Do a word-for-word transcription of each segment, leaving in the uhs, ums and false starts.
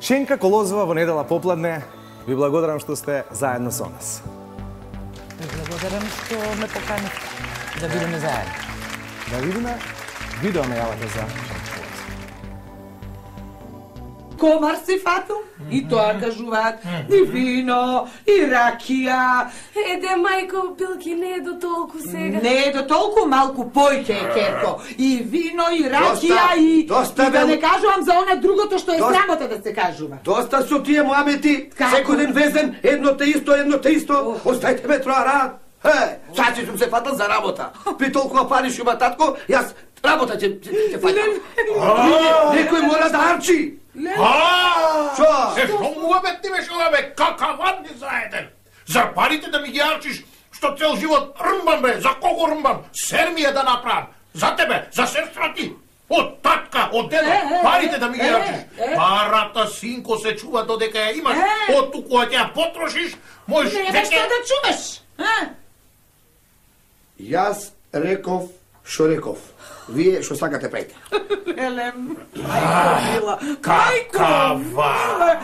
Шенка Колозова во недела попладне, ви благодарам што сте заедно со нас. Ви благодарам што ме поканивте да бидеме заедно. Да видиме видео најавата за Комар си фатил, и тоа кажуваат, и вино, и ракија. Еде, мајко, пилки не е до толку сега. Не е до толку, малку појќе е, Керко. И вино, и ракија, и... доста, и да бе- не кажувам за она другото што е Доста- срамота да се кажува. Доста со тие муамети, Како? секој ден везен, едно те исто, едно те исто, оставите ме троа рад. Е, сад си сум се фатал за работа. При толкова пари што има татко, јас работа ќе ќе фатам. Некој мора да арчи. Шо? Е, што муабет ти беше ова, бе, какаван ни заеден? За парите да ми ги арчиш, што цел живот рмбам, бе, за кого рмбам? Сер ми е да направам. За тебе, за сестра ти. Од татка, од дедо, парите да ми ги арчиш. Парата, синко, се чува додека ја имаш. Од туку, а ќе ја потрошиш, можеш... Нема што да чуваш, а? Јас реков што реков. Вие што сакате правите. Елем, мајко мила, мајко Какава! мила.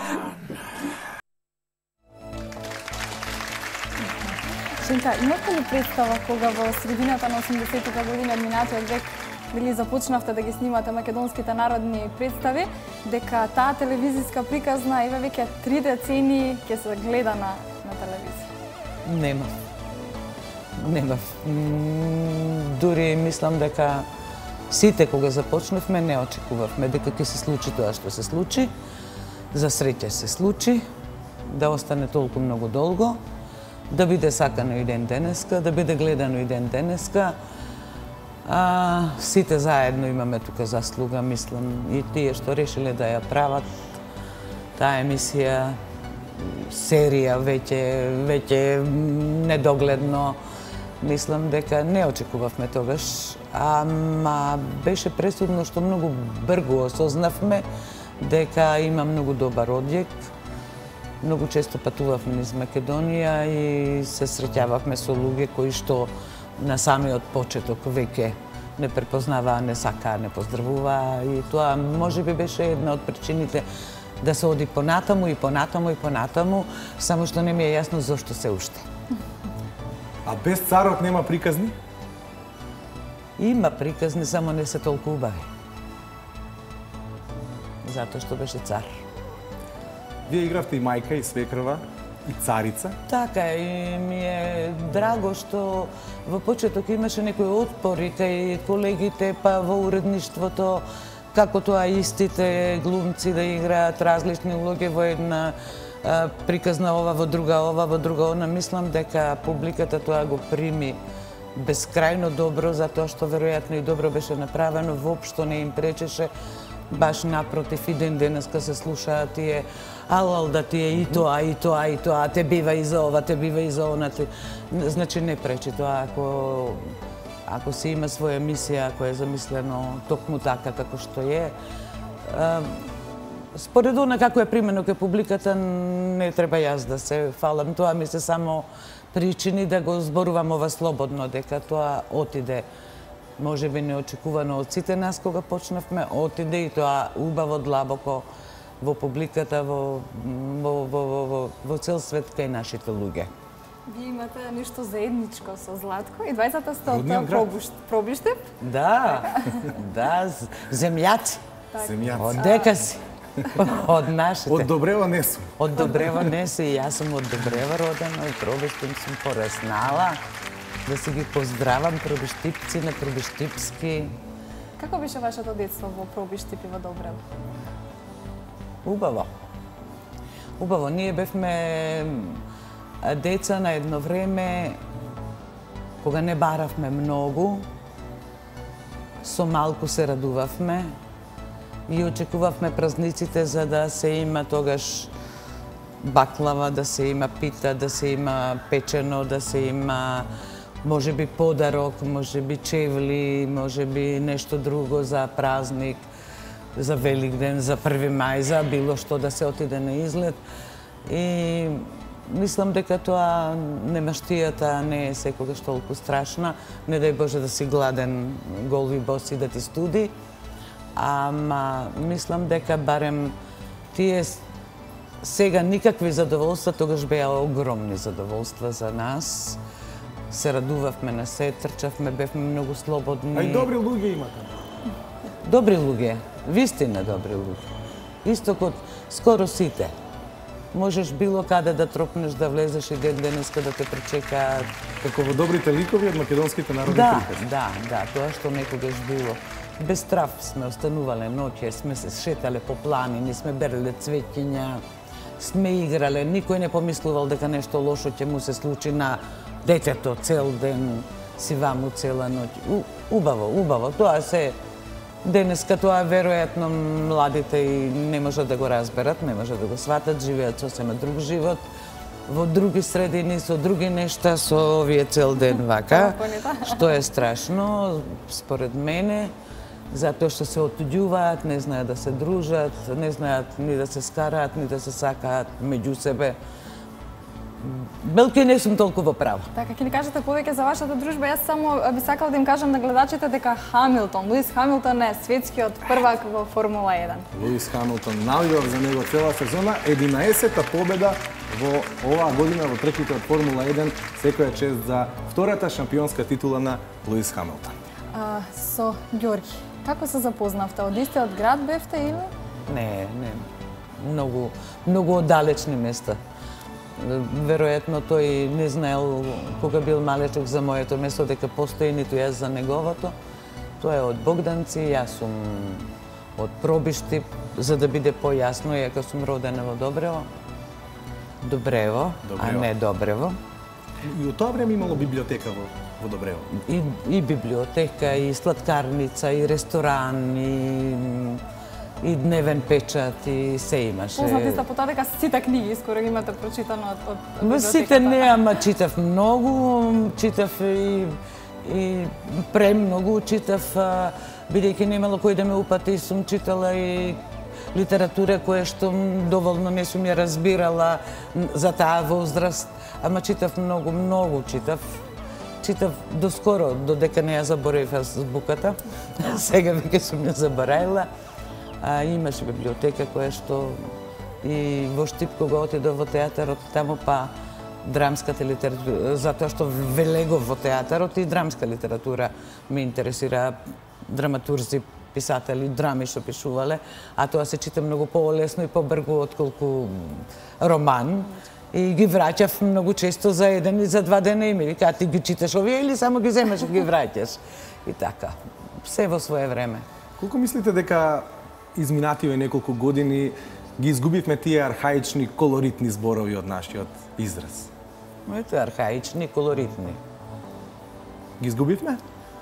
Шенка, имате ли представа кога во средината на осумдесеттите години од минатиот век били започнавте да ги снимате македонските народни представи, дека таа телевизиска приказна еве веќе три децени ќе се гледа на, на телевизија? Нема. Нема. М, Дури мислам дека сите кога започнавме не очекувавме дека ќе се случи тоа што се случи. За среќа се случи, да остане толку многу долго, да биде сакано и ден денеска, да биде гледано и ден денеска. А, сите заедно имаме тука заслуга, мислам, и тие што решиле да ја прават таа емисија, серија веќе веќе недогледно. Мислам дека не очекувавме тогаш, ама беше пресудно што многу брзо осознавме дека има многу добар одјек. Многу често патувавме низ Македонија и се среќававме со луѓе кои што на самиот почеток веќе не препознаваа, не сакаа, не поздравуваа, и тоа можеби беше една од причините да се оди понатаму и понатаму и понатаму, само што не ми е јасно зошто се уште. А без царот нема приказни? Има приказни, само не се толку убави. Затоа што беше цар. Вие игравте и мајка, и свекрва, и царица. Така, и ми е драго што во почеток имаше некој отпор и кај колегите, па во уредништвото, како тоа истите глумци да играат различни улоги во една а, приказна, ова во друга, ова во друга, она. Мислам дека публиката тоа го прими бескрајно добро, затоа што веројатно и добро беше направено, воопшто не им пречеше. Баш напротив, и ден денеска се слушаат тие алал да тие и тоа, и тоа, и тоа, те бива и за ова, те бива и за она. Те... Значи не пречи тоа, ако ако се има своја мисија, ако е замислено токму така како што е. А, според она како е примено кај публиката, не треба јас да се фалам. Тоа ми се само причини да го зборувам ова слободно, дека тоа отиде можеби неочекувано од сите нас кога почнавме, отиде и тоа убаво, длабоко во публиката, во, во, во, во, во, во цел свет кај нашите луѓе. Вие имате нешто заедничко со Златко и двајцата сте од Родниот град. Пробушт, Пробиштеп? Да, да, з- земјаци. Земјаци. Од дека си? Од нашите. Од Добрева не сум. Од Добрева не си, и јас сум од Добрева родена, и Пробиштеп сум пораснала. Да си ги поздравам пробиштипци на пробиштипски. Како беше вашето детство во Пробиштеп и во Добрева? Убаво. Убаво. Ние бевме деца на едно време кога не баравме многу, со малку се радувавме и очекувавме празниците за да се има тогаш баклава, да се има пита, да се има печено, да се има можеби подарок, можеби чевли, можеби нешто друго за празник, за Великден, за први мај, за било што да се отиде на излет. И мислам дека тоа немаштијата не е секогаш толку страшна. Не дај Боже да си гладен, гол и бос и да ти студи. Ама мислам дека барем тие Сега никакви задоволства, тогаш беа огромни задоволства за нас. Се радувавме на се, трчавме, бевме многу слободни. А и добри луѓе имате. Добри луѓе, вистина добри луѓе. Исто код скоро сите. Можеш било каде да тропнеш, да влезеш и ден денеска да те пречекаат. Како во добрите ликови од македонските народни Да, приказни. да, да, тоа што некогаш било. Без страв сме останувале ноќе, сме се шетале по планини, сме береле цвеќиња, сме играле, никој не помислувал дека нешто лошо ќе му се случи на детето цел ден, си ваму цела ноќ. У, убаво, убаво, тоа се денеска тоа веројатно младите и не можат да го разберат, не можат да го сватат, живеат сосема друг живот, во други средини, со други нешта, со овие цел ден вака, што е страшно, според мене, затоа што се отуѓуваат, не знаат да се дружат, не знаат ни да се скараат, ни да се сакаат меѓу себе. Белки не сум толку во право. Така, ќе ни кажете повеќе за вашата дружба. Јас само би сакала да им кажам на гледачите дека Хамилтон, Луис Хамилтон е светскиот првак во Формула еден. Луис Хамилтон навивав за него цела сезона, единаесета победа во оваа година во трките од Формула еден, секоја чест за втората шампионска титула на Луис Хамилтон. А, со Ѓорги, како се запознавте? Од истиот град бевте или? Не, не. Многу, многу оддалечни места. Веројатно тој не знаел кога бил малечок за моето место дека постои, ниту јас за неговото. Тоа е од Богданци, јас сум од Пробишти, за да биде појасно, јако сум родена во Добрево. Добрево, Добрево. а не Добрево. И од тоа време имало библиотека во, во Добрево. И, и библиотека, и сладкарница, и ресторан, и и дневен печат, и се имаше. Познати сте по тоа дека сите книги скоро ги имате прочитано од, од Ма библиотеката. сите не, ама читав многу, читав и, и премногу, читав, а, бидејќи немало кој да ме упати, сум читала и литература која што доволно не сум ја разбирала за таа возраст, ама читав многу, многу читав. Читав доскоро, додека не ја заборавив азбуката. Сега веќе сум ја заборавила. А, имаше библиотека која што и во Штип кога отидов во театарот, таму па драмската литература, затоа што велегов во театарот и драмска литература ме интересира, драматурзи, писатели, драми што пишувале, а тоа се чита многу полесно и побргу отколку роман. И ги враќав многу често за еден и за два дена и ми вика, ти ги читаш овие или само ги земеш и ги враќаш. И така, се во свое време. Колку мислите дека изминативе неколку години ги изгубивме тие архаични колоритни зборови од нашиот израз? Ето архаични, колоритни. Ги изгубивме?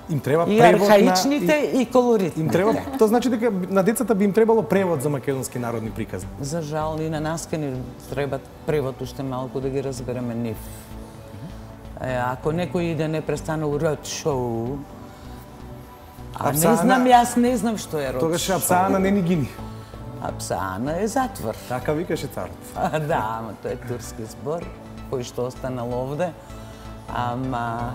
Им треба И превод архаичните на... и колоритните. Им треба, тоа значи дека на децата би им требало превод за македонски народни приказни. За жал и на нас ке ни треба превод уште малку да ги разбереме нив. Е, ако некој иде непрестану род шоу, а не Апсаана- знам, јас не знам што е род Тогаш шоу. Апсаана не ни гини. Апсаана е затвор. Така викаше царот. А, да, ама тоа е турски збор, кој што останал овде. Ама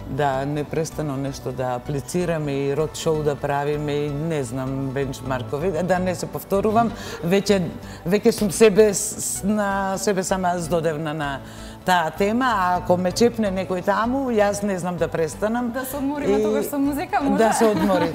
да непрестано нешто да аплицираме и род шоу да правиме и не знам бенчмаркови, да не се повторувам, веќе веќе сум себе с- на себе сама здодевна на таа тема, а ако ме чепне некој таму, јас не знам да престанам. Да се одмориме И- тогаш со музика, може? Да се одмори.